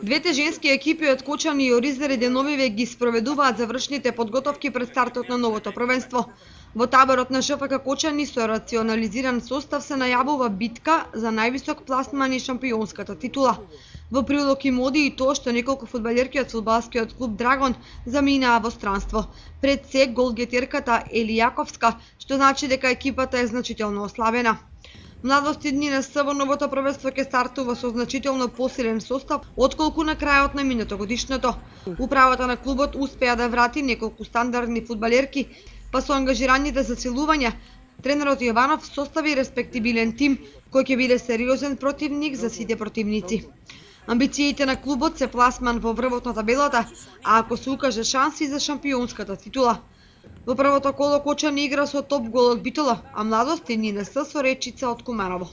Двете женски екипи од Кочани и Оризар и Деновиве ги спроведуваат завршните подготовки пред стартот на новото првенство. Во таборот на ШФК Кочани со рационализиран состав се најавува битка за највисок пласман и шампионската титула. Во прилог им оди и тоа што неколку фудбалерки од фудбалскиот клуб Драгон заминаа во странство. Пред се голгетерката Ели Јаковска, што значи дека екипата е значително ослабена. Младост и НС во новото првенство ќе стартува со значително посилен состав отколку на крајот на минатогодишното. Управата на клубот успеа да врати неколку стандардни фудбалерки, па со ангажираните засилувања, тренерот Јованов состави респектибилен тим кој ќе биде сериозен противник за сите противници. Амбициите на клубот се пласман во врвот на табелата, а ако се укаже шанси за шампионската титула. Во првото коло Кочани игра со топ гол од Битола, а Младост и НС со Речица од Куманово.